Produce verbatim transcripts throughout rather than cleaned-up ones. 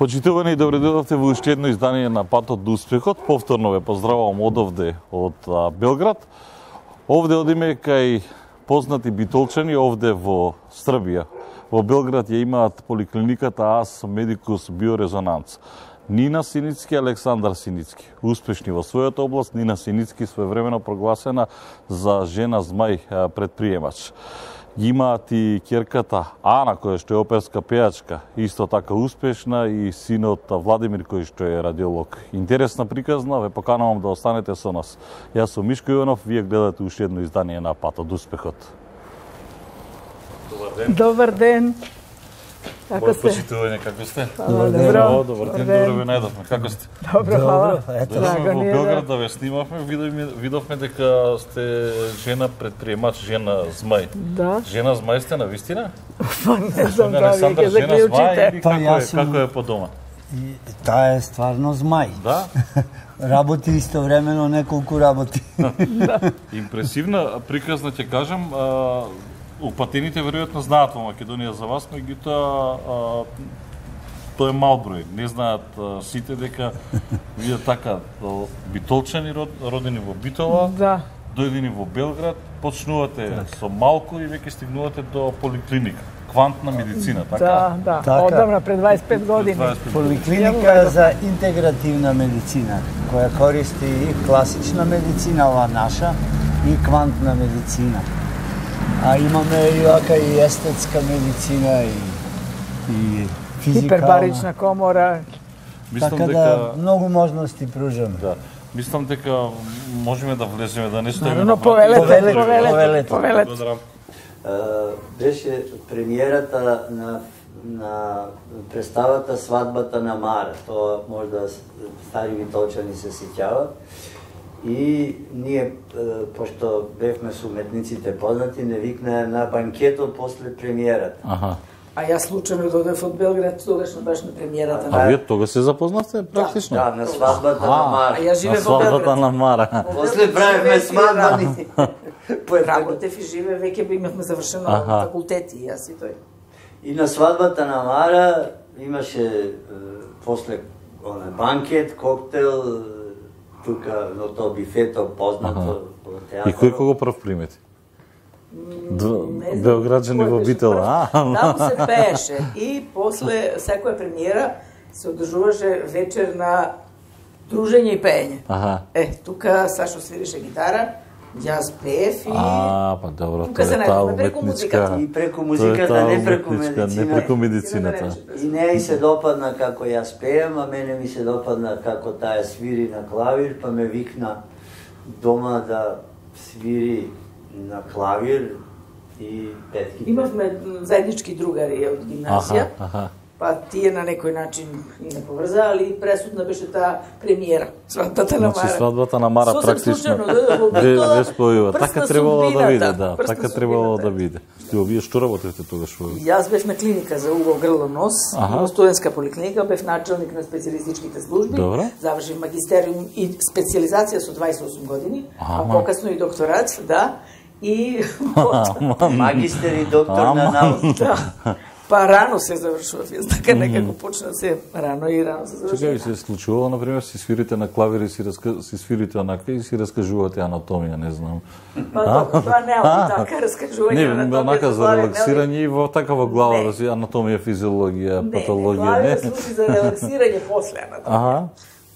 Почитувани и добре дојдовте во уште едно издание на Патот до успехот. Повторно ве поздравувам одовде од Белград. Овде одиме кај познати битолчани овде во Србија. Во Белград ја имаат поликлиниката АС Медикус Биорезонанц. Нина Синицки, Александар Синицки. Успешни во својата област, Нина Синицки своевремено прогласена за жена змај предприемач. Имаат и ќерката Ана, која што е оперска пејачка, исто така успешна, и синот Владимир, кој што е радиолог. Интересна приказна, ве поканувам да останете со нас. Јас сум Мишко Иванов, вие гледате уште едно издание на Патот до успехот. Добар ден. Добар ден. Како сте? Почитување, како сте? Добар ден. Добро. Добар ден, добро ве најдовме. Како сте? Добро, хвала. Дојдовме во Белград да ве снимавме, видовме, видовме дека сте жена предприемач, жена змај. Да. Жена змај сте на вистина? Па не знам да ви жена ќе змај заклучите. или како е, како е по дома? И, таа е стварно змај. Да? Работи истовремено неколку работи. Импресивна приказна ќе кажам. А, упатените веројатно знаат во Македонија за вас, меѓутоа тоа е мал број. Не знаат а, сите дека вие така битолчани родени во Битола, Да. дојдени во Белград, почнувате так. со малку и веќе стигнувате до поликлиника. Квантна медицина, така? Да, да. Така. Одамна пред дваесет и пет години. Поликлиника за интегративна медицина, која користи и класична медицина, ова наша, и квантна медицина. А имаме и вака и естетска медицина, и, и физикална. Хипербарична комора. Мислам Така дека да, многу можности пружаме. да. Мислам дека можеме да влеземе, да не стоиме. Наравно, на повелете, Повелете, повелете, повелете. повелете. Благодарам. Беше премиерата на, на представата Свадбата на Мара. Тоа можда стари битолчани се сеќават. И ние, пошто бевме со уметниците познати, не викнаа на банкетот после премиерата. Аха. А јас случајно додев од Белград, тогаш баш на премиерата. А вие тога се запознавте практично? Да, на Свадбата на А Мара. јас На живеев во свадбата Белград. на Мара. После правевме свадбани. Работев и живе, веќе имавме завршено Аха. факултети, јас и тој. И на Свадбата на Мара имаше е, после оне банкет, коктел, тука на тоа бифето познато во театар. И кој кого прв примети? Не знам Белграđани кој во беше Битола, прв. Таму се пееше и после секоја премиера се одржуваше вечер на дружење и пеење. Аха. Е, тука Сашо свирише гитара, јас пеев и А, па добро, тука тоа се е таа најдовме преку музиката. уметничка. И преку Тоа е музиката, таа не преку уметничка, медицина. не преку медицината. И неја и се допадна како јас пеем, а мене ми се допадна како таа свири на клавир, па ме викна дома да свири на клавир и петки. Имавме заеднички другари од гимназија, Аха, аха. па тие на некој начин ни не поврзаали и пресудна беше таа премиера, свадбата на Значи Мара. свадбата на Мара Сосем практично случајно дојдов во ве Битола, ве спојува. прст Така на требало да судбината, биде, да, прст на така требало судбината. да биде. Стио, вие што работите тогаш во? Јас бев на клиника за уго, грло, нос, Аха. во студентска поликлиника, бев началник на специјалистичките служби, Добро. завршив магистериум и специјализација со дваесет и осум години, а Ама. покасно и докторат, да, и потоа, Магистер и доктор на науки. да, па рано се завршува, јас така некако почна се рано и рано се Чекај, завршува. се случувало, например, си свирите на клавир и си, раска... си свирите онака и си раскажувате анатомија, не знам. Па добро, тоа не е така раскажување Не, на онака за релаксирање и во такава глава, Не. да си анатомија, физиологија, Не, патологија, не, не. тоа служи за релаксирање после анатомија. Аха.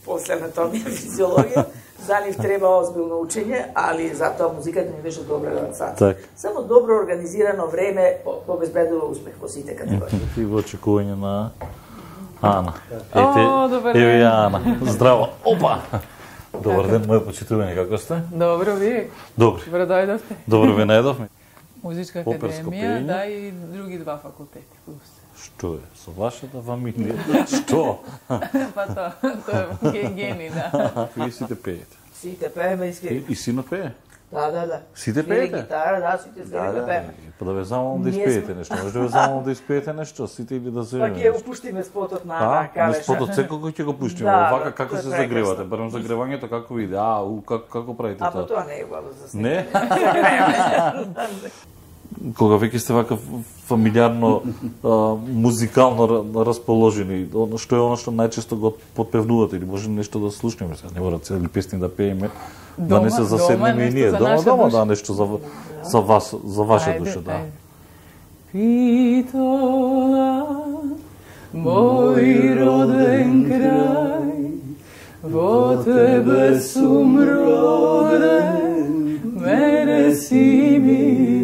После анатомија, физиологија, за нив треба озбилно учење, али затоа музиката ми беше добра релаксација. Так. Само добро организирано време обезбедува успех во сите категории. И во очекување на Ана. О, добар Еве ден. ја Ана. Здраво. Опа. Добар ден, моје почитување, како сте? Добро, вие? Добри. Добро дојдовте. Добро ве најдовме. Музичка Оперско академија, пеење. да, и други два факултети. плюс. Што е? Со вашата фамилија? Што? Па тоа, тоа е гени, да. Вие сите пеете. Сите пееме и И, свириме. и синот пее? Да, да, да. Сите Свири пеете? гитара, да, сите свириме пееме. Па да ве замолам да Ние испеете сме- нешто. Може да ве замолам да испеете нешто, сите или да се Па ќе опуштиме спотот на А, Ана не Калеша. спотот секој ќе го пуштиме. Да, Овака да, како тоа е се прекрасно. загревате? Барем загревањето како иде? А, у, како, како правите А па тоа? тоа не е убаво за сега. Не? кога веќе сте вака фамилиарно, а, музикално расположени, оно што е оно што најчесто го подпевнувате или може нешто да слушнеме, сега не мора цели песни да пееме, да не се заседнеме и ние. Дома, дома, да, нешто за, за вас, за ваша Ајде, душа, да. ајде. Битола, мој роден крај, во тебе сум роден, мене си мил.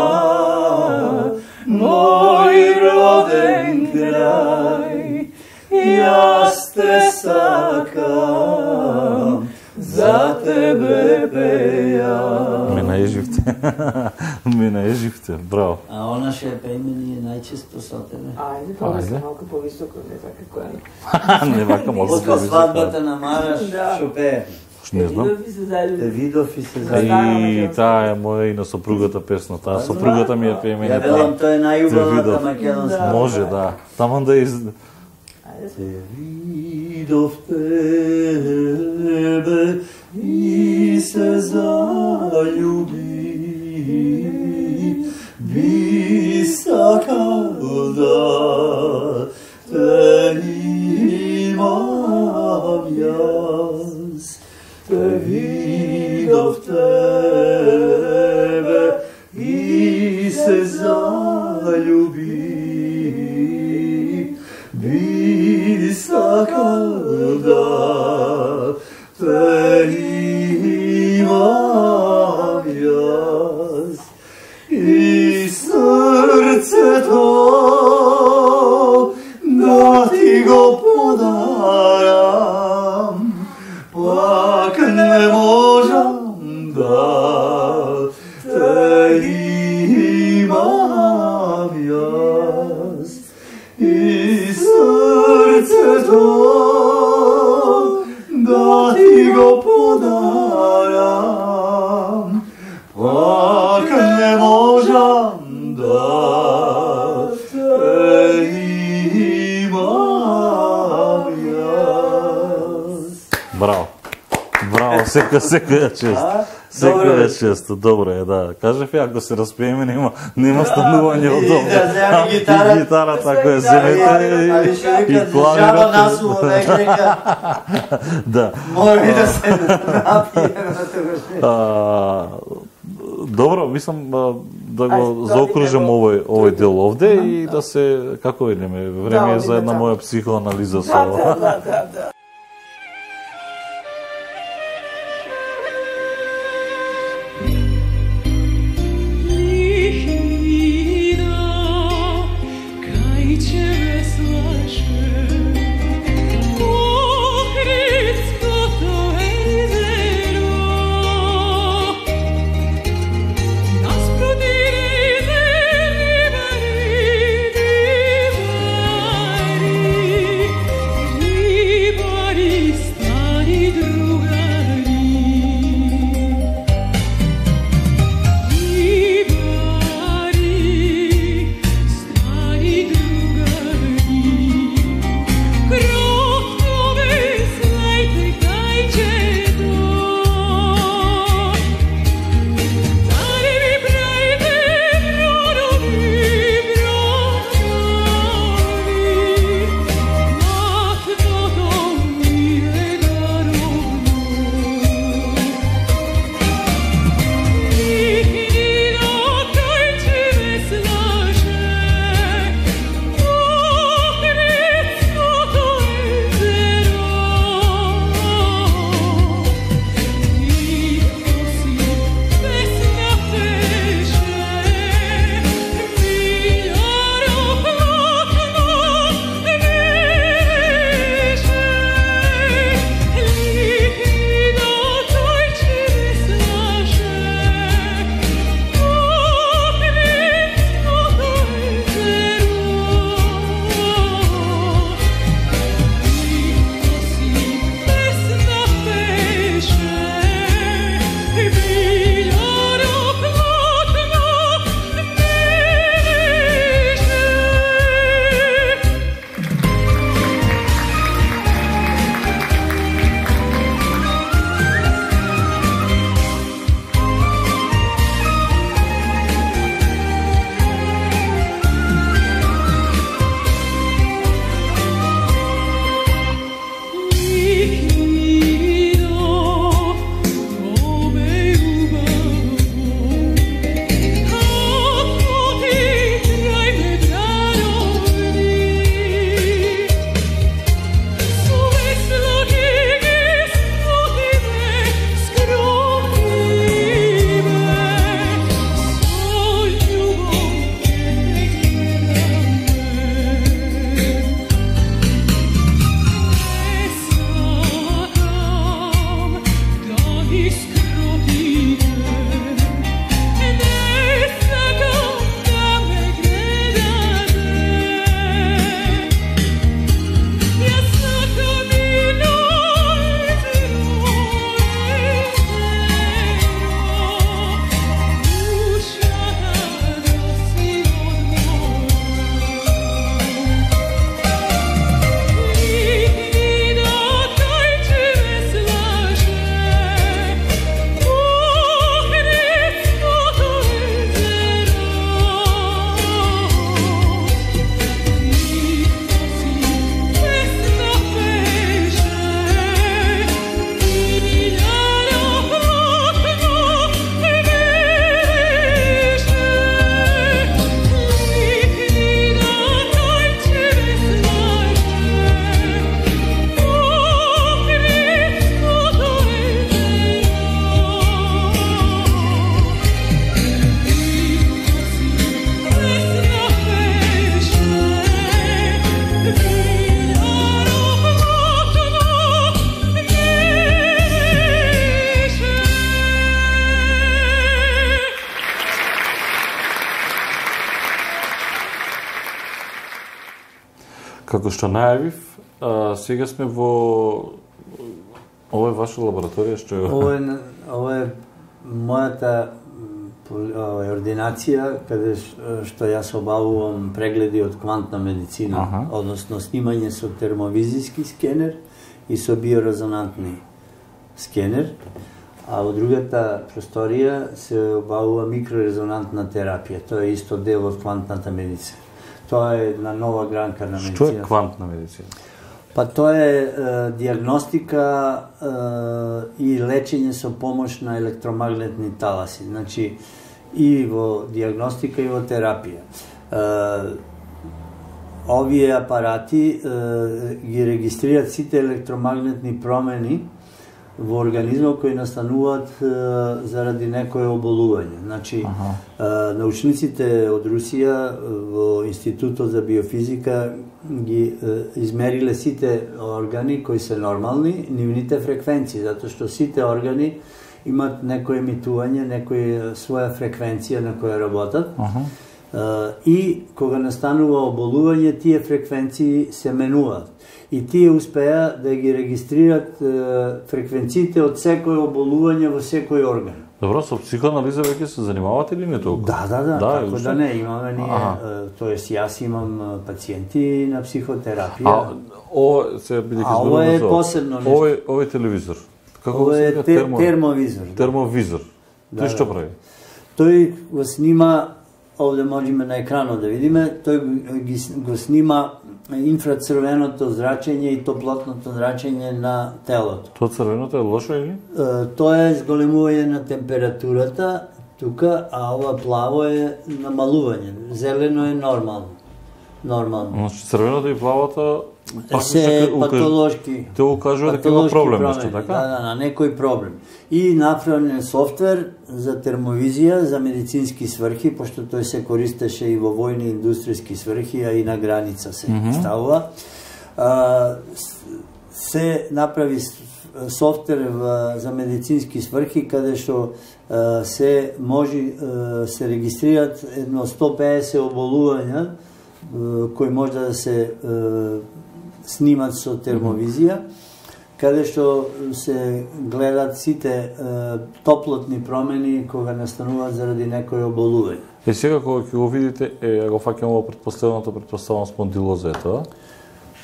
Битола, мој роден крај, јас те сакам, за тебе пејам. Ме наеживте. Ме наеживте, браво. А она ше пееме ние најчесто со тебе. Ајде, помисли малку повисоко, не така која. Не вака може После свадбата на Мараш, Да. шо пее. Не знам. Видов и се залюби. Те видов и се И зајави. таа е моја и на сопругата песна, таа сопругата ми ја пее мене. Ја велам, тоа е најубавата видов. македонска. Може, да. Таман да из... Ајде, Те видов тебе и се заљуби, би сакал да те имам јас. Те видов тебе и се заљуби, би сакал да те имам јас. И срцето да ти го подарам, пак не можам да те имам јас. И срцето да ти го подарам, пак не можам да те имам јас. Браво. Браво, сека, сека е чест. Сека е чест, добро е, да. Кажев ја, ако се распееме, нема, нема станување од И дома. да земе гитара. И гитара, така е, земете Али и, ще и викат, жаба клавирот. насува, век нека Да. мори да се напије на тогаш. А, добро, мислам а, да го Ајде, заокружим да, овој овој дел овде и да се, како видиме, време е Да, за една одиме моја психоанализа со да, ова. да, да, да, да. Liberi, liberi, Како што најавив, а, сега сме во ова е ваша лабораторија што е Ова е ова е мојата ова е ординација каде што јас обавувам прегледи од квантна медицина, Аха. односно снимање со термовизиски скенер и со биорезонантни скенер, а во другата просторија се обавува микрорезонантна терапија. Тоа е исто дел од квантната медицина. Тоа е една нова гранка на медицина. Што е квантна медицина? Па тоа е, е диагностика е, и лечење со помош на електромагнетни таласи. Значи, и во диагностика и во терапија. Е, овие апарати е, ги регистрираат сите електромагнетни промени во организмот кои настануваат е, заради некое оболување. Значи, е, научниците од Русија во Институтот за биофизика ги е, измериле сите органи кои се нормални, нивните фреквенции, затоа што сите органи имат некој емитување, некоја своја фреквенција на која работат. Аха. Uh, и кога настанува оболување, тие фреквенции се менуваат. И тие успеа да ги регистрираат uh, фреквенциите од секој оболување во секој орган. Добро, со психоанализа веќе се занимавате или не толку? Да, да, да, Да, како уште? да не, имаме ние, Аха. uh, тоест јас имам uh, пациенти на психотерапија. А ова се бидејќи А ова е посебно нешто. Ова е ова е телевизор. Како Ова се е вика? те, Термо- термовизор. Да. термовизор. Да, Тој што да. прави? Тој го снима, овде можеме на екранот да видиме, тој ги, го снима инфрацрвеното зрачење и топлотното зрачење на телото. Тоа црвеното е лошо или? Е, Тоа е зголемување на температурата тука, а ова плаво е намалување. Зелено е нормално. Нормално. Значи црвеното и плавото Се патолошки. Те укажува дека има патолошки проблем промени, нешто, така? Да, да, на некој проблем. И направен софтвер за термовизија за медицински сврхи, пошто тој се користеше и во војни индустријски сврхи, а и на граница се Мгм. ставува. А, с- се направи с- софтвер в- за медицински сврхи, каде што а, се може а, се регистрираат едно сто педесет оболувања а, кои може да се а, снимат со термовизија, каде што се гледат сите е, топлотни промени кога настануваат заради некој оболување. Е сега кога ќе го видите, е го фаќам ова предпоставеното, предпоставам спондилоза е тоа.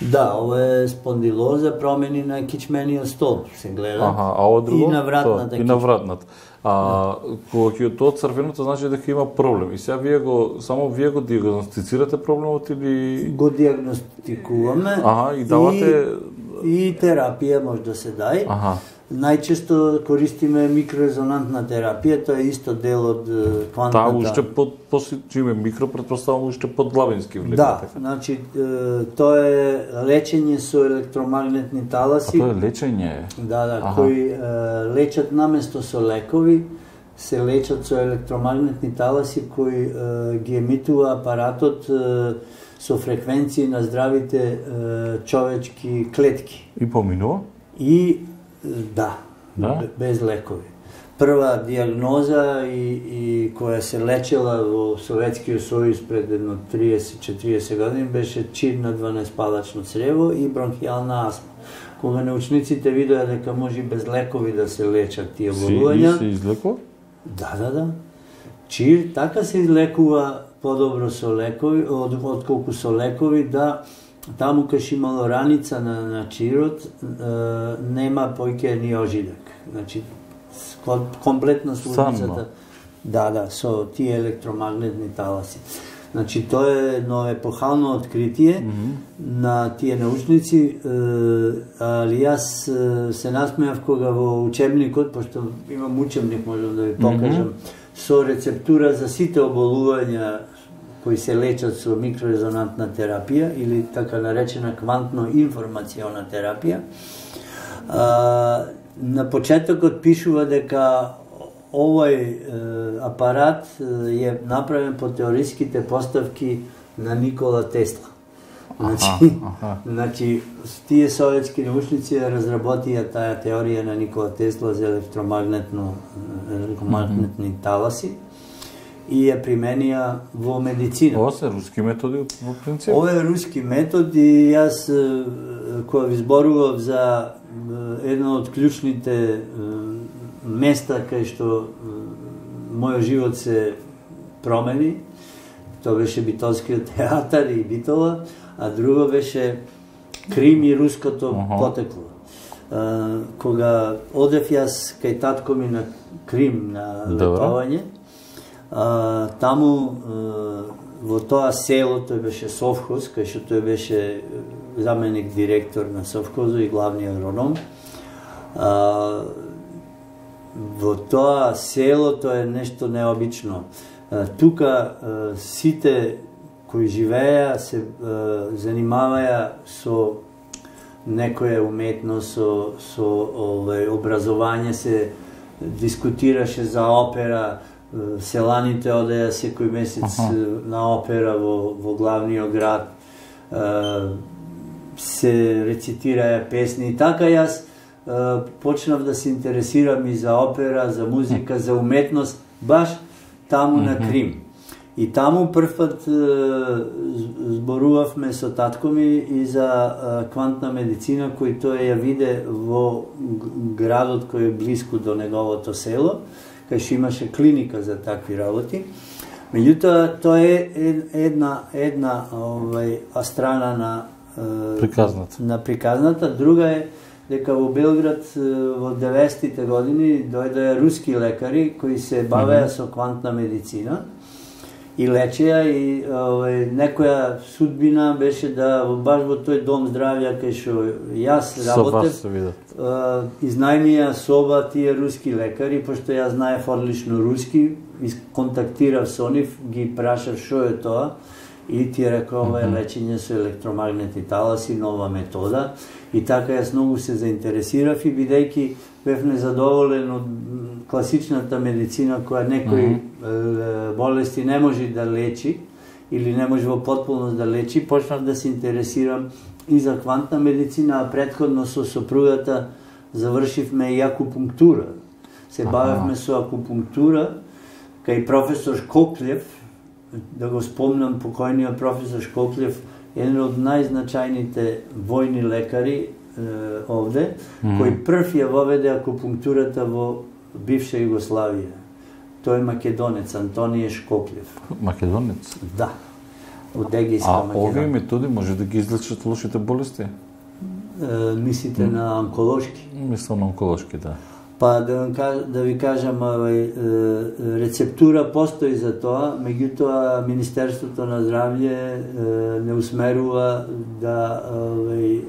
Да, ова е спондилоза, промени на кичмениот столб се гледа. Аха, а ова друго? И на вратната Тоа, и на вратната. А кога ќе тоа црвеното значи дека има проблем. И сега вие го само вие го диагностицирате проблемот или Го диагностикуваме. Аха, и давате- И, и терапија може да се дај. Аха. Најчесто користиме микрорезонантна терапија, тоа е исто дел од е, квантната. таа уште под после чиме микро предпоставам уште под главински влезе. Да, така? значи е, тоа е лечење со електромагнетни А таласи. тоа е лечење. Да, да, Аха. кои е, лечат наместо со лекови, се лечат со електромагнетни таласи кои е, ги емитува апаратот е, со фреквенции на здравите е, човечки клетки. И поминува? И е, да, Да? б- без лекови. Прва диагноза и, и која се лечела во Советскиот сојуз пред едно триесет четириесет години беше чир на дванаесетпалачно црево и бронхијална астма. Кога научниците видоа дека може и без лекови да се лечат тие Си, болувања, и се излекува? да, да, да. Чир така се излекува подобро со лекови, од, отколку со лекови, да таму кај имало раница на, на чирот, е, нема појќе ни ожидак. Значи, ко- комплетно слузницата. Само. Да, да, со тие електромагнетни таласи. Значи, тоа е едно епохално откритие на тие научници, е, али јас е, се насмеав кога во учебникот, пошто имам учебник, можам да ви покажам, со рецептура за сите оболувања кои се лечат со микрорезонантна терапија или така наречена квантно-информациона терапија. А, на почетокот пишува дека овој е, апарат е, е направен по теориските поставки на Никола Тесла. Значи, аха. значи тие советски научници ја разработија таа теорија на Никола Тесла за електромагнетно електромагнетни таласи и ја применија во медицина. Ова се руски методи во принцип? Ова е руски метод и јас кога ви зборував за едно од клучните места кај што мојот живот се промени, тоа беше Битолскиот театар и Битола, а друго беше Крим и руското uh-huh. потекло. Uh, кога одев јас кај татко ми на Крим на летување, uh, таму uh, во тоа село, тој беше совхоз, кај што тој беше заменик директор на совхозот и главни агроном. Uh, во тоа село тоа е нешто необично. Uh, тука uh, сите кои живееа се uh, занимаваја со некоја уметност, со, со овај, образование, се дискутираше за опера, селаните одеа секој месец uh-huh. на опера во, во главниот град, се рецитираја песни и така јас почнав да се интересирам и за опера, за музика, за уметност, баш таму uh-huh. на Крим. И таму првпат зборувавме со татко ми и за квантна медицина, кој тој ја виде во градот кој е блиску до неговото село, кај што имаше клиника за такви работи. Меѓутоа, тоа е една, една овај, страна на приказната. на приказната. Друга е дека во Белград во деветдесетите години дојдоа руски лекари кои се бавеа mm-hmm. со квантна медицина и лечеа и овај, некоја судбина беше да баш во тој дом здравја кај што јас работев, изнајмија соба тие руски лекари, пошто јас знаев одлично руски, контактирав со нив, ги прашав што е тоа и ти рекол ова е лечење со електромагнетни таласи, нова метода. И така јас многу се заинтересирав и бидејќи бев незадоволен од класичната медицина која некои mm-hmm. болести не може да лечи или не може во потполност да лечи, почнав да се интересирам и за квантна медицина, а претходно со сопругата завршивме и акупунктура. Се бавевме со акупунктура кај професор Шкоклев, да го спомнам покојниот професор Шкоклев, еден од најзначајните војни лекари е, овде, mm-hmm. кој прв ја воведе акупунктурата во бивша Југославија. Тој е македонец, Антонije Шкоклев. Македонец? Да. Од Егејска Македонија. А Македонија. овие методи може да ги излечат лошите болести? Е, мислите mm. на онколошки? Мислам на онколошки, да. Па да, да ви кажам, овај, рецептура постои за тоа, меѓутоа Министерството на здравје не усмерува да овај,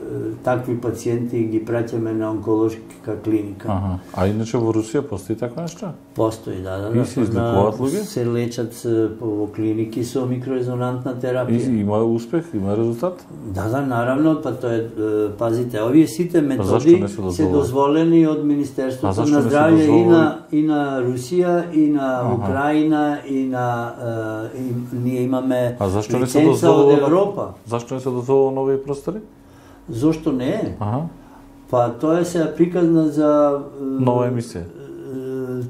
такви пациенти ги праќаме на онколошка клиника. Аха. А иначе во Русија постои таква нешто? Постои, да, да. И се излекуваат луѓе? Се лечат во клиники со микрорезонантна терапија. И има успех, има резултат? Да, да, наравно, па тоа е, пазите, овие сите методи се дозволени од Министерството на здравје и на и на Русија и на ага. Украина и на е, и, ние имаме лиценца од Европа. Зашто не се дозволува нови простори? Зошто не е? Ага. Па тоа е сега приказна за нова емисија.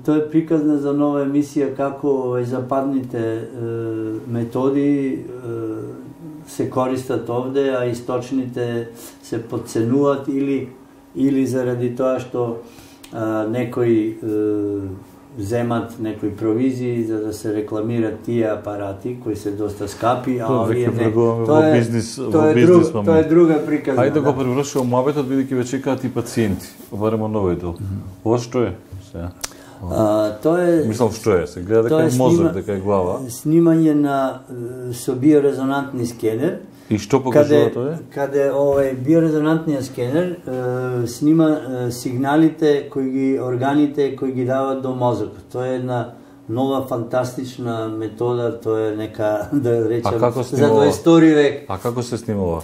Тоа е приказна за нова емисија како овај западните е, методи е, се користат овде, а источните се подценуваат или или заради тоа што а, некои е, земат некои провизии за да се рекламират тие апарати кои се доста скапи, а овие не. Тоа е бизнис, тоа е друг, тоа е друга приказна. Ајде да го превршувам муабетот бидејќи веќе чекаат и пациенти, барем од новој дел. Ова што е сега? А, тоа е Мислам што е, се гледа дека е мозок, дека е глава. Снимање на со биорезонантни скенер. И што покажува тоа? Каде овој биорезонантниот скенер е, снима е, сигналите кои ги органите кои ги дават до мозокот. Тоа е една нова фантастична метода, тоа е нека да речем за дваесети век. А како се снимува?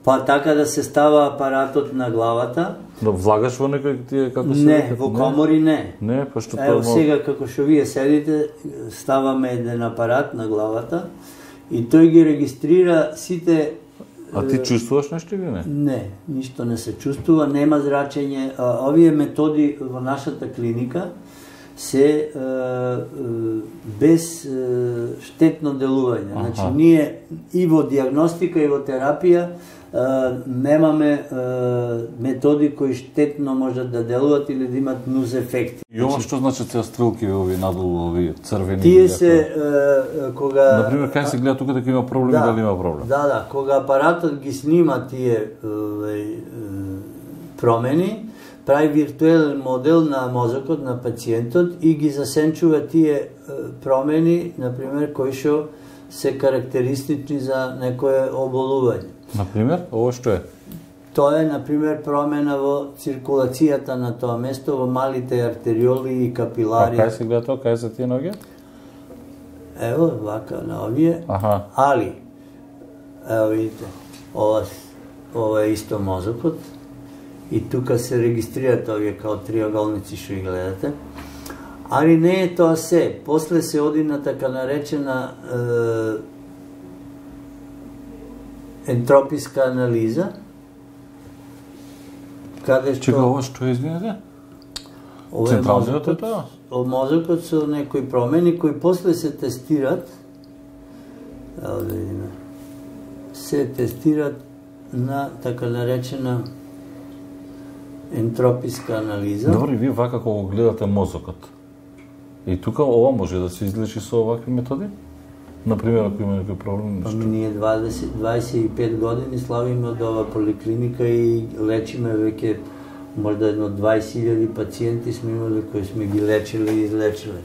Па така да се става апаратот на главата. Да влагаш во некој тие како се Не, во комори не. Не, па што Ево сега како што вие седите, ставаме еден апарат на главата и тој ги регистрира сите. А ти чувствуваш нешто или не? Не, ништо не се чувствува, нема зрачење. Овие методи во нашата клиника се е, е, без е, штетно делување. Аха. Значи, ние и во диагностика и во терапија Uh, немаме uh, методи кои штетно можат да делуваат или да имат нуз ефекти. И ова што значат се стрелки ови надолу, ови црвени? Тие се uh, кога Например, кај се гледа тука дека има проблем, да, дали има проблем? Да, да, кога апаратот ги снима тие uh, промени, прави виртуелен модел на мозокот на пациентот и ги засенчува тие uh, промени, например, кои што се карактеристични за некое оболување. Например, ово што е? Тоа е, например, промена во циркулацијата на тоа место, во малите артериоли и капилари. А кај се гледа тоа, кај се тие ноги? Ево, вака на овие. Аха. Али, ево видите, ова, ова е исто мозокот и тука се регистрираат овие као триаголници што ги гледате. Али не е тоа се. После се оди на така наречена е, ентрописка анализа, каде што... Чека, ова што е, извинете? Ова е Централниот е мозокот, тоа? о мозокот со некои промени кои после се тестират, ево да видиме, се тестират на така наречена ентрописка анализа. Добро, и вие вака кога го гледате мозокот. И тука ова може да се излечи со овакви методи? Например, ако има некој проблем, Па нешто? ние дваесет дваесет и пет години славиме од ова поликлиника и лечиме веќе можда едно дваесет илјади пациенти сме имали кои сме ги лечили и излечили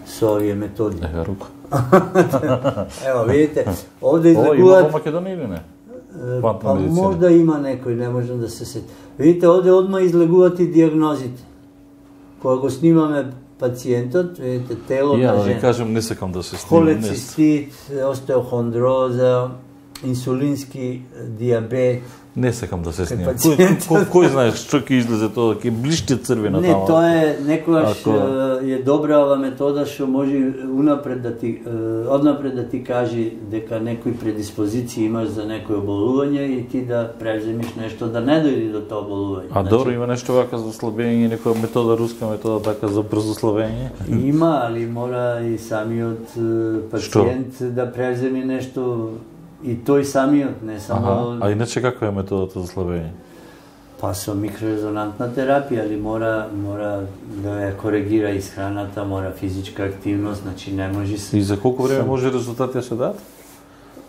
со овие методи. Ева рука. Ево, видите, овде Ова има во излекуваат... Македонија или не? Е, Квантна Па медицина. можда има некој, не можам да се сетам. Видите, овде одма излегуваат и диагнозите. Кога го снимаме пациентот, видите, тело Ја на да ви жена. кажам, не сакам да се снимам. не- Холецистит, остеохондроза, инсулински диабет. Не сакам да се снимам. пациентот. Кој, кој, кој знаеш што ќе излезе тоа, ќе блишти црвена Не, тама. тоа е некогаш Ако- е, е добра ова метода што може унапред да ти е, однапред да ти кажи дека некои предиспозиции имаш за некој оболување и ти да преземиш нешто да не дојде до тоа оболување. А добро, има нешто вака за слабење, некоја метода, руска метода така за брзо слабење? Има, али мора и самиот е, пациент да преземи нешто и тој самиот, не само... Аха. А иначе каква е методата за слабење? Па со микрорезонантна терапија, али мора мора да ја коригира исхраната, мора физичка активност, значи не може се И за колку време Сам. може резултати да се дадат?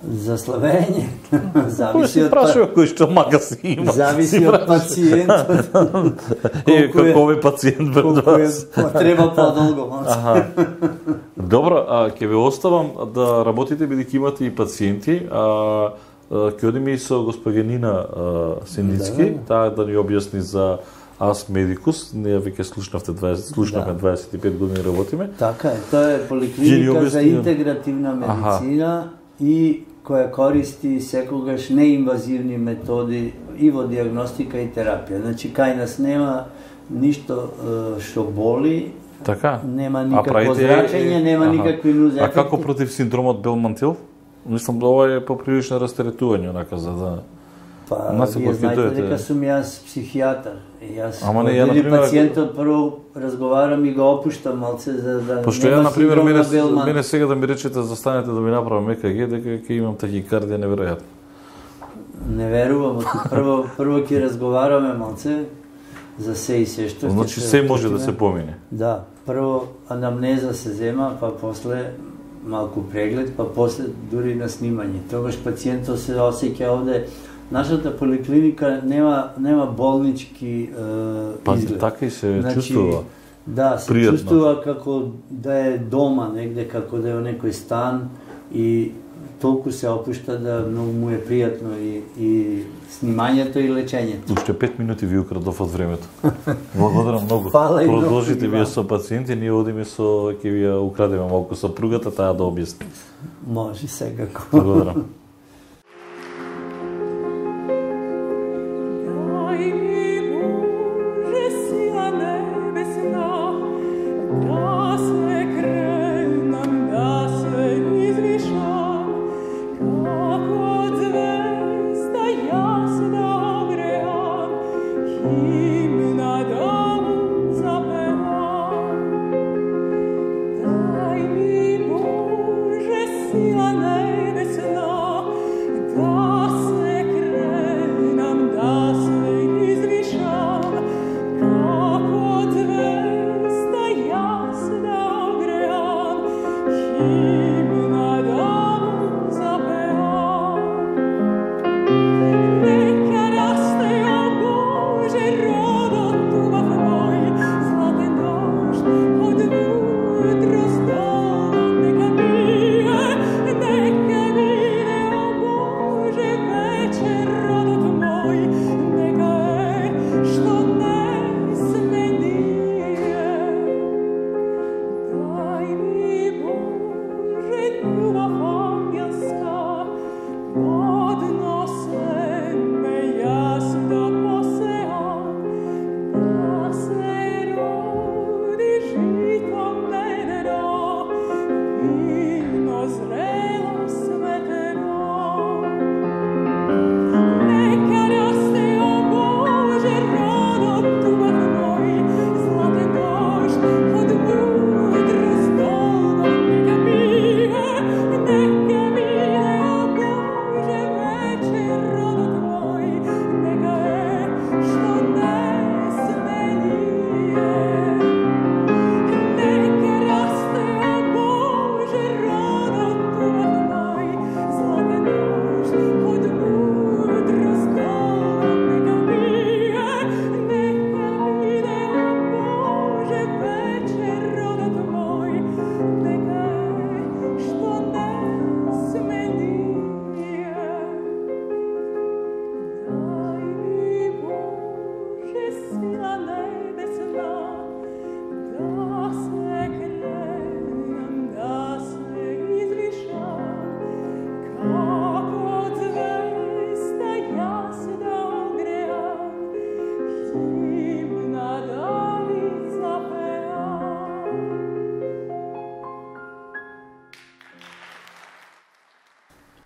за слабење. Кој Зависи се од прашува кој што мага си има? зависи Си од прашува. пациентот. Е, колку е- како овој пациент пред Колку е вас. треба подолго. Аха. Добро, а ќе ве оставам да работите бидејќи имате и пациенти, а а, ќе одиме и со госпогенина Синдицки, Да. таа да ни објасни за Ас Медикус. Ние веќе слушнавте дваесет, слушнавме Да. дваесет и пет години работиме. Така е, тоа е Ќе ни поликлиника за објасни- интегративна медицина и која користи секогаш неинвазивни методи и во диагностика и терапија. Значи, кај нас нема ништо е, што боли, Така? нема А никакво правите- зрачење, нема Аха. никакви нуз А ефекти. како против синдромот Белмантил? Мислам, ова е поприлично растеретување, онака, за да... Па, Нас вие кога знаете дојдете- дека сум јас психијатар. И јас, Ама не, кога ја, види например, пациентот, прво разговарам и го опуштам малце, за да Пошто ја, нема например, синдром мене, на Белман. мене сега да ми речете застанете да ми направам ЕКГ, дека ќе имам тахикардија неверојатно. Не верувам, прво, прво ќе разговараме малце за се и се што ќе Значи се може да отчитиме. се помине. Да, прво анамнеза се зема, па после малку преглед, па после дури на снимање. Тогаш пациентот се осеќа овде. Нашата поликлиника нема нема болнички е, Па изглед. така и се Значи, чувствува. Да, се пријатно. чувствува како да е дома негде, како да е во некој стан и толку се опушта да многу му е пријатно и, и снимањето и лечењето. Уште пет минути ви украдов од времето. Благодарам многу. Фала и многу Продолжите и вие вам. со пациенти, ние одиме со ќе ви ја украдеме малку сопругата, таа да објасни. Може секако. Благодарам. Дай ми Боже сила небесна, да се кренам, да се извишам, како од звезда јасна огреам, химна да му запевам.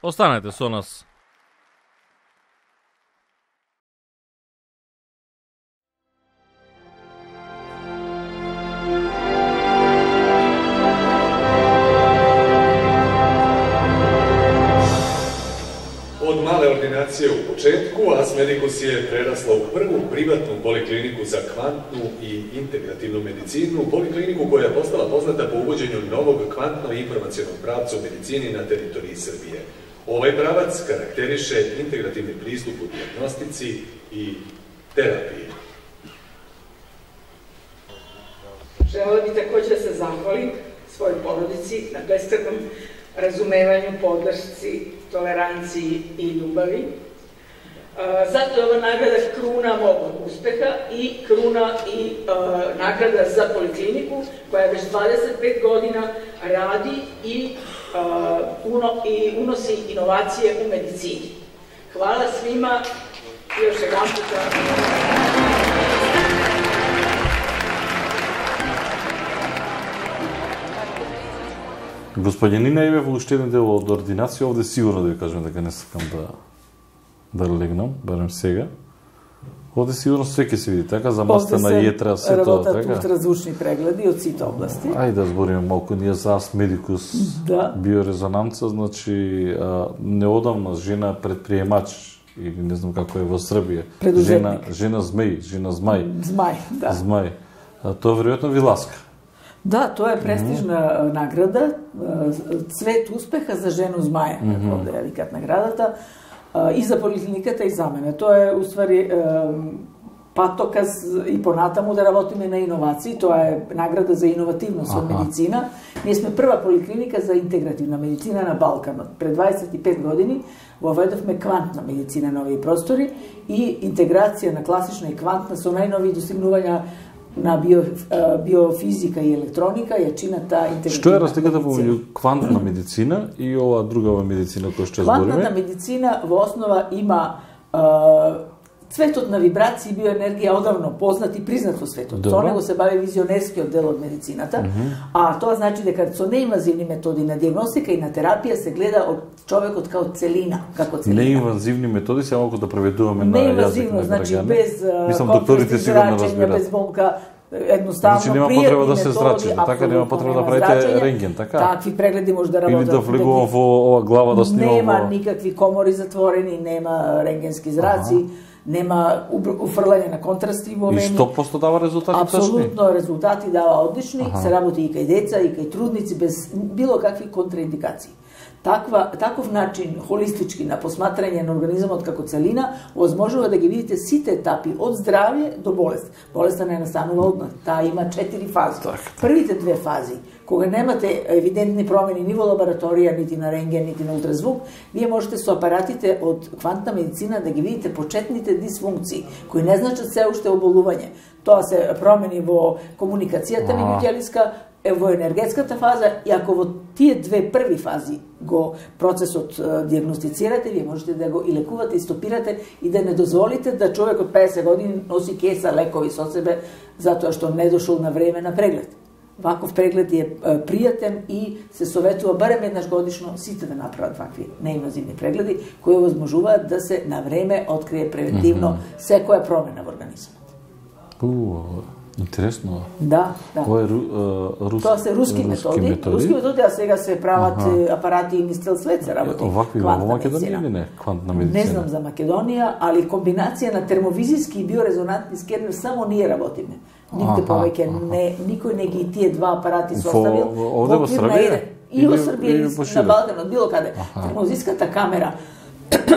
Останете со нас. Од мале ординација у почетку, Ars Medicus je прерасла у прву приватну поликлинику за квантну и интегративну медицину, поликлинику која постала позната по увоđењу новог квантно-информационog правца у медицини на територiji Србије. Овај правац карактерише интегративни приступ у дијагностици и терапiji. Želela bih takođe da se zahvalim svojoj porodici na beskratnom razumevanju, podršci, toleranciji i ljubavi. Zato je ova nagrada kruna mog uspeha i kruna i nagrada za polikliniku koja već dvadeset pet godina radi i unosi inovacije u medicini. Hvala svima i još jedan puta. Господјанина еве во уште еден дел од ординација, овде сигурно да ви кажам дека не сакам да да легнам, барем сега. Овде сигурно све ќе се види, така, замастена јетра, се тоа, така. Овде се работат ултразвучни прегледи од сите области. Ајде да збориме малку ние за Ars Medicus, да. Биорезонанца, значи а, неодамна жена предприемач, или не знам како е во Србија. Жена, жена змеј, жена змај. Змај, да. Змај. А, тоа веројатно ви ласка. Да, тоа е престижна mm -hmm. награда, цвет успеха за жену змаја, mm -hmm. овде ја викат наградата, и за поликлиниката и за мене. Тоа е, уствари, патоказ и понатаму да работиме на иновации, тоа е награда за иновативност во медицина. Ние сме прва поликлиника за интегративна медицина на Балканот. Пред дваесет и пет години воведовме квантна медицина на овие простори и интеграција на класична и квантна со најнови достигнувања на био, биофизика и електроника ја чина таа интегративна. Што е разликата помеѓу квантна медицина и ова другава медицина која што збориме? Квантната медицина во основа има е, цветот на вибрации и биоенергија одавно познат и признат во светот. Со него се бави визионерскиот дел од медицината, mm -hmm. а тоа значи дека со неинвазивни методи на дијагностика и на терапија се гледа од човекот као целина, како целина. Неинвазивни методи се малку да преведуваме на јазик на граѓани. Неинвазивно, значи без Мислам докторите сигурно разбираат. Без болка, едноставно значи, нема потреба да се зрачите, така нема потреба да правите рентген, така? Такви прегледи може да работат. Или да влегувам во ова глава да снимам. Нема во... никакви комори затворени, нема рентгенски зраци. Ага. Нема уфрлање на контрасти во вени. И сто проценти дава резултати точни? Апсолутно, резултати дава одлични, ага. Се работи и кај деца, и кај трудници, без било какви контраиндикации. Таква, таков начин, холистички, на посматрање на организмот како целина, возможува да ги видите сите етапи, од здравје до болест. Болеста не настанува одмah, таа има четири фази. Так. Првите две фази, кога немате евидентни промени ни во лабораторија, нити на рентген, нити на ултразвук, вие можете со апаратите од квантна медицина да ги видите почетните дисфункции, кои не значат се уште оболување. Тоа се промени во комуникацијата меѓутелеска, во енергетската фаза, и ако во тие две први фази го процесот дијагностицирате, вие можете да го и лекувате и стопирате и да не дозволите да човек од педесет години носи кеса лекови со себе затоа што не дошол на време на преглед. Ваков преглед е пријатен и се советува барем еднаш годишно сите да направат вакви неинвазивни прегледи кои возможуваат да се на време открие превентивно mm -hmm. секоја промена во организмот. Uh. Интересно. Да, да. Тоа е рус, Тоа се руски, руски методи. методи. Руски методи, а сега се прават ага. апарати и низ цел свет се работи. Овакви во Македонија или не? Квантна медицина. Не знам за Македонија, али комбинација на термовизиски и биорезонантни скенер само ние работиме. Нигде повеќе не, никој не ги тие два апарати составил. Овде во Србија? И во Србија, и на Балканот, било каде. Термовизиската камера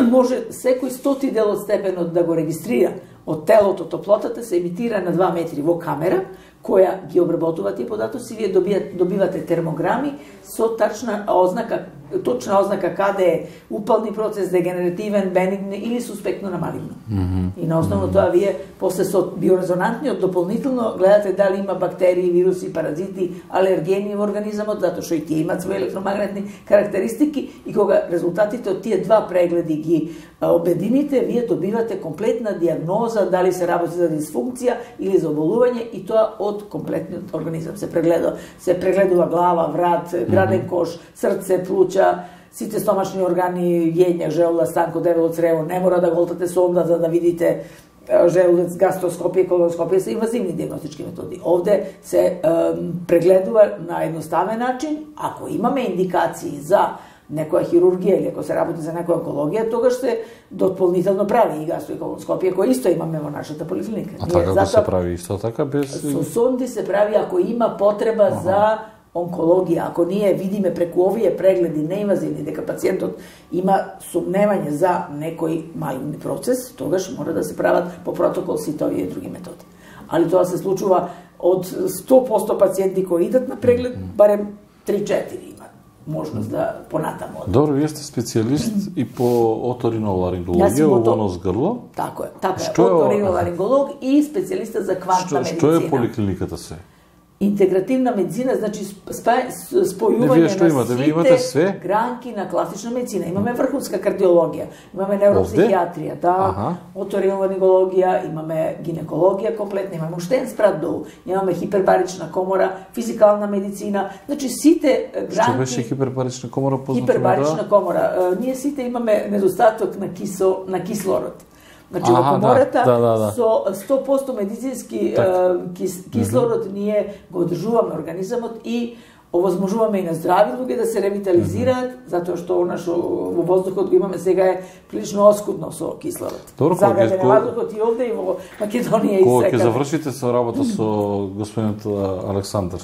може секој стоти дел од степенот да го регистрира. Од телото, топлотата се емитира на два метри во камера, која ги обработува тие податоци, вие добивате, добивате термограми со тачна ознака, точна ознака каде е упални процес, дегенеративен, бенигн или суспектно на малигно. Mm -hmm. И на основно mm -hmm. тоа вие после со биорезонантниот дополнително гледате дали има бактерии, вируси, паразити, алергени во организмот, затоа што и тие имаат своји електромагнетни карактеристики, и кога резултатите од тие два прегледи ги обедините, вие добивате комплетна дијагноза дали се работи за дисфункција или за оболување, и тоа од комплетниот организам се прегледа. Се прегледува глава, врат, граден кош, срце, плуќа, сите стомашни органи, јење, желуда, станко, дебело црево, не мора да голтате сонда за да видите желудец, гастроскопија, колоноскопија се инвазивни диагностички методи. Овде се е, прегледува на едноставен начин, ако имаме индикации за некоја хирургија или ако се работи за некоја онкологија, тогаш се дополнително прави и гастро и колоноскопија, која исто имаме во нашата поликлиника. А така затоа, се прави исто така без... Со сонди се прави ако има потреба ага. за онкологија. Ако ние видиме преку овие прегледи неинвазивни дека пациентот има сумневање за некој малигни процес, тогаш мора да се прават по протокол сите овие други методи. Али тоа се случува од сто проценти пациенти кои идат на преглед, барем три-четири има можност да понатаму. Добро, вие сте специјалист и по оториноларингологија, во нос грло. Тако е, така е, оториноларинголог и специјалиста за квантна медицина. Што е поликлиниката се? Интегративна медицина, значи спојување на сите све? Гранки на класична медицина. Имаме врховска кардиологија, имаме невропсихијатрија, да, ага. оториноларингологија, имаме гинекологија комплетна, имаме уштен спрат долу, имаме хипербарична комора, физикална медицина, значи сите гранки... Што беше хипербарична комора позната? Хипербарична да? комора. Ние сите имаме недостаток на, кисо, на кислород. Значи, во комората да, да, да. со сто проценти медицински так. кис, кислород mm -hmm. ние го одржуваме организамот и овозможуваме и на здрави луѓе да се ревитализираат, mm -hmm. затоа што нашо во воздухот го имаме сега е прилично оскудно со кислород. Загаден е воздухот и овде и во Македонија и кога секаде. Кога ќе завршите со работа со господинот Александар,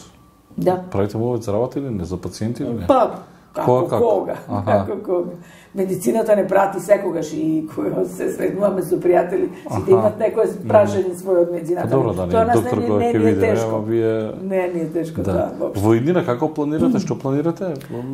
да. правите му за работа или не, за пациенти или не? Па, како кога? Како? Кога? Како кога? Медицината не прати секогаш и кога се сретнуваме со пријатели, сите имат некое прашање своје од медицината. Добро, да, тоа не, доктор не, кога не, ќе не е видиме, тешко. вие... Не, не е тешко, да. да Во иднина како планирате, што планирате?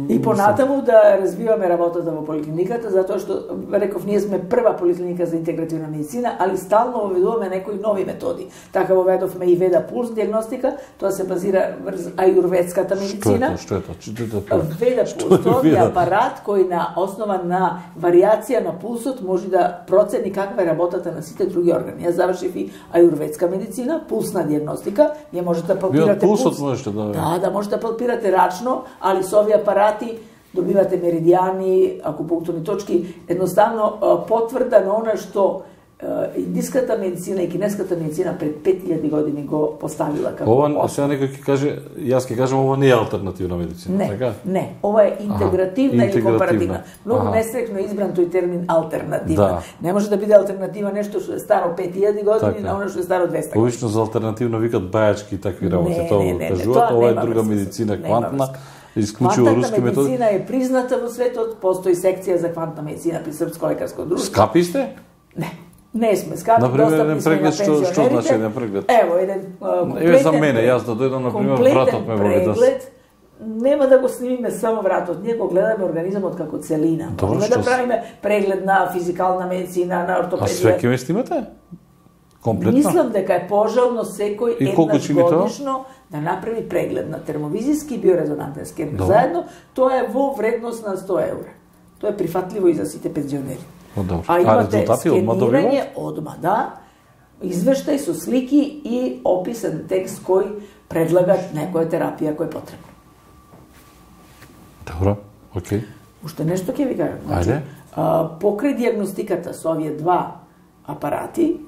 И понатаму да развиваме работата во поликлиниката, затоа што, реков, ние сме прва поликлиника за интегративна медицина, али стално воведуваме некои нови методи. Така воведовме и Веда пулс диагностика, тоа се базира врз аюрведската медицина. Што е тоа? Што е тоа? Веда пулс, тоа е апарат кој на основа на варијација на пулсот може да процени каква е работата на сите други органи. Јас завршив и аюрведска медицина, пулсна диагностика, ја можете да палпирате пулсот пулс. можете да... Да, да можете да палпирате рачно, али со овие апарати добивате меридијани, акупунктурни точки, едноставно потврда на она што индиската медицина и кинеската медицина пред пет илјади години го поставила како ова, основа. Сега некој ќе каже, јас ќе кажам, ова не е алтернативна медицина, не, така? Не, ова е интегративна или компаративна. Многу несрекно избран тој термин алтернативна. Да. Не може да биде алтернатива нешто што е старо пет илјади години така. На оно што е старо двеста години. Обично за алтернативно викат бајачки и такви работи, не, тоа не, не, кажуваат, ова е друга смисъл. медицина, Нема квантна, исклучиво Квантната руски методи. медицина е призната во светот, постои секција за квантна медицина при Српско лекарско друштво. Скапи сте? Не. Не сме скапи, например, достапни сме на пензионерите. Што, што значи еден преглед? Ево, еден комплетен Еве за мене, јас да дојдам, например, вратот ме боли да се... Нема да го снимиме само вратот, ние го гледаме организамот како целина. Добро, Можеме да правиме преглед на физикална медицина, на ортопедија. А све ќе ме снимате? Комплетно? Мислам дека е пожелно секој еднаш годишно да направи преглед на термовизиски и биорезонантен скенер. Заедно, тоа е во вредност на сто евра. Тоа е прифатливо и за сите пензионери. Добро. А имате а скенирање одма, да, извештај со слики и описен текст кој предлага некоја терапија која е потребна. Добро, окей. Уште нешто ќе ви кажам. Значи, а, покрај диагностиката со овие два апарати,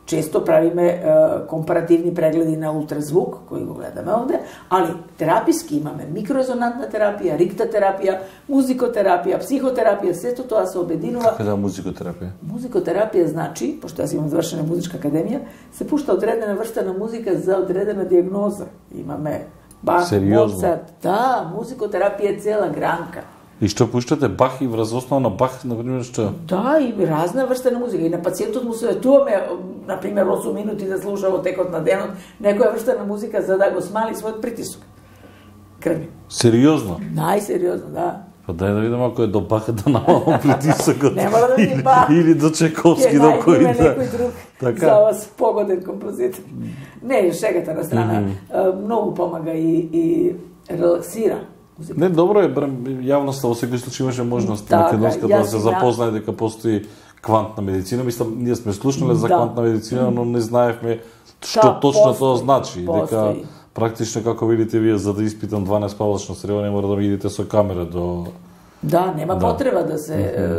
често правиме е, компаративни прегледи на ултразвук, кои го гледаме овде, али тераписки имаме микрорезонантна терапија, риктатерапија, музикотерапија, психотерапија, сето тоа се обединува. Како да музикотерапија? Музикотерапија значи, пошто јас имам завршена музичка академија, се пушта одредена врста на музика за одредена диагноза. Имаме Бах, Моцарт, да, музикотерапија е цела гранка. И што пуштате Бах и врз основа на Бах, например, што? Да, и разна врста на музика. И на пациентот му советуваме, например, осум минути да слуша во текот на денот некоја врста на музика за да го смали својот притисок крвни. Сериозно? Најсериозно, да. Па дај да видам ако е до Баха да намалам притисокот. Не мора да биде Бах. Или до Чайковски, до кој да. Некој друг така? За вас погоден композитор. Не, шегата на страна. Mm -hmm. Многу помага и, и релаксира. Музика. Не, добро е, јавноста во секој случај имаше можност така, македонска да се запознае дека постои квантна медицина. Мислам, ние сме слушнале за да. квантна медицина, но не знаевме што да, точно постои, тоа значи. Постои. Дека практично, како видите вие, за да испитам дванаесет павлачно срево, не мора да ми идете со камера до Да, нема Да. потреба да се е,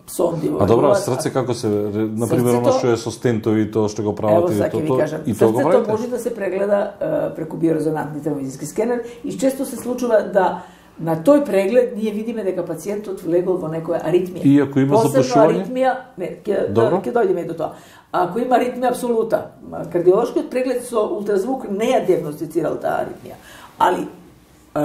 сонди. А добро, срце како се, на пример, оно што е со стентови, тоа што го прават Ево, и саќе ви тоа, кажам, и тоа го срцето правите? може да се прегледа е, преку биорезонантните магнетски скенер и често се случува да на тој преглед ние видиме дека пациентот влегол во некоја аритмија. И ако има Посебно запушување? аритмија, не, ќе Добро. ќе дојдеме и до тоа. Ако има аритмија апсолута, кардиолошкиот преглед со ултразвук не ја диагностицирал таа аритмија, али е,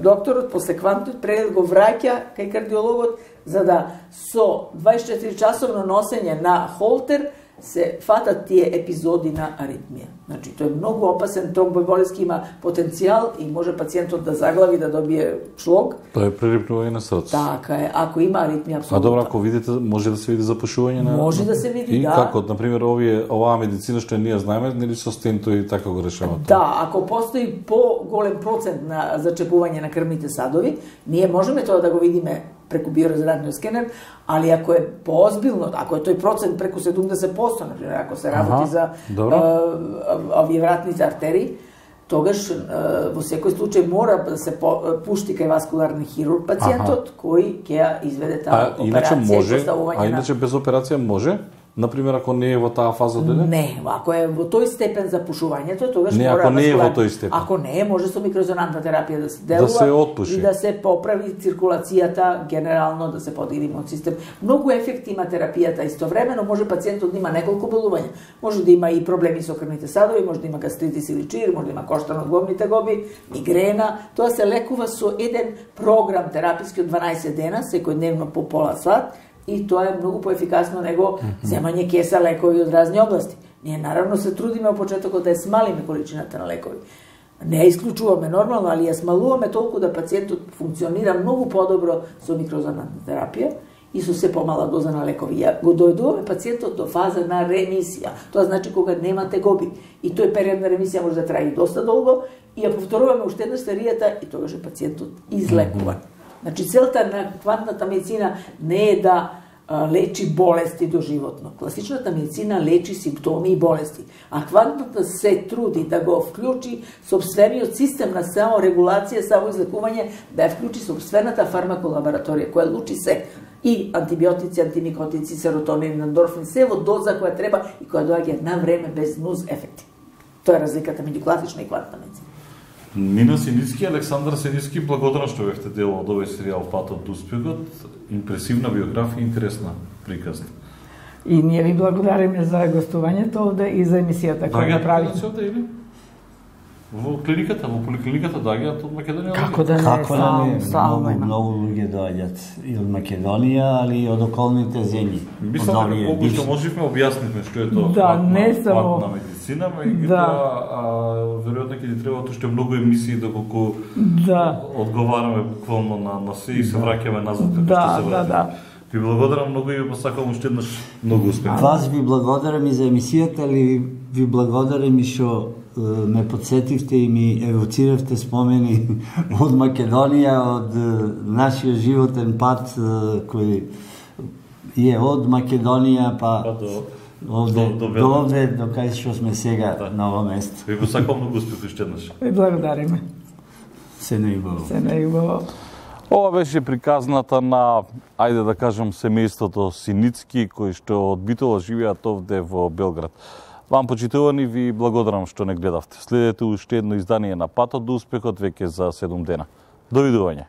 докторот после квантниот преглед го враќа кај кардиологот за да со дваесет и четири часовно носење на холтер се фатат тие епизоди на аритмија. Значи, тој е многу опасен, тромбоемболиски има потенцијал и може пациентот да заглави, да добие шлог. Тоа е прерипнување на срце. Така е, ако има аритмија апсолутно. А добро, ако видите, може да се види запушување на... Може да се види, и да. како, например, овие, оваа медицина што ние знаеме, нели со стентови така го решават? Да, ако постои по-голем процент на зачепување на крвните садови, ние можеме тоа да го видиме преку биорезонантниот скенер, али ако е поозбилно, ако е тој процент преку седумдесет проценти, например, ако се работи Аха, за добро. а, овие вратните артерии, тогаш а, во секој случај мора да се по, пушти кај васкуларни хирург пациентот, кој ќе ја изведе таа А иначе операција и може, поставување а иначе без операција може? Например, ако не е во таа фаза деле? Не, ако е во тој степен за пушувањето, тогаш Не, мора ако не е васкулар- во тој степен. Ако не е, може со микрозонантна терапија да се делува Да се отпуши. и да се поправи циркулацијата, генерално да се подигри имун систем. Многу ефекти има терапијата, истовремено може пациентот да има неколку болувања. Може да има и проблеми со крвните садови, може да има гастритис или чир, може да има коштан од главните гоби, мигрена. Тоа се лекува со еден програм тераписки од дванаесет дена, секојдневно по пола сат, и тоа е многу поефикасно него земање кеса лекови од разни области. Ние наравно се трудиме во почетокот да ја смалиме количината на лекови. Не ја исклучуваме нормално, али ја смалуваме толку да пациентот функционира многу подобро со микрозонантна терапија и со се помала доза на лекови. Ја го дојдуваме пациентот до фаза на ремисија. Тоа значи кога немате гоби. И тој период на ремисија може да трае и доста долго и ја повторуваме уште една серијата и тогаш е пациентот излекуван. Значи, целта на квантната медицина не е да а, лечи болести доживотно. Класичната медицина лечи симптоми и болести, а квантната се труди да го вклучи собствениот систем на саморегулација, самоизлекување, да ја вклучи собствената фармаколабораторија, која лучи се и антибиотици, антимикотици, серотонин, ендорфин, се во доза која треба и која доаѓа на време без нуз ефекти. Тоа е разликата меѓу класична и квантна медицина. Нина Синицки, Александар Синицки, благодарам што бевте дел од овој серијал Патот до успехот. Импресивна биографија, интересна приказна. И ние ви благодариме за гостувањето овде и за емисијата која направите. Даѓаат овде или? Во клиниката, во поликлиниката даѓаат од Македонија? Како да не, Како да не, стално, стално многу, има. многу луѓе доаѓаат и од Македонија, али и од околните земји. Мислам Од дека овие колку што бивши. можевме објаснивме што е тоа Да, квантна- не само- квантна медицина, меѓутоа Да. а, веројатно ќе ни требаат уште многу емисии доколку Да. одговараме буквално на, на се и се враќаме назад како Да, што се да, враќаме. да. Ви благодарам многу и ви посакувам уште еднаш многу успех. Вас ви благодарам и за емисијата, али ви благодарам и што е, ме подсетивте и ми евоциравте спомени од Македонија, од е, нашиот животен пат е, кој е од Македонија па Па до овде, до- до до, Белград. овде, до кај што сме сега Да. на ова место. ви посакувам многу успех уште еднаш. Ви благодариме. Се најубаво. Се најубаво. Ова беше приказната на, ајде да кажем, семејството Синицки, кои што од Битола живеат овде во Белград. Вам, почитувани, ви благодарам што не гледавте. Следете уште едно издание на Патот до успехот веќе за седум дена. Довидување.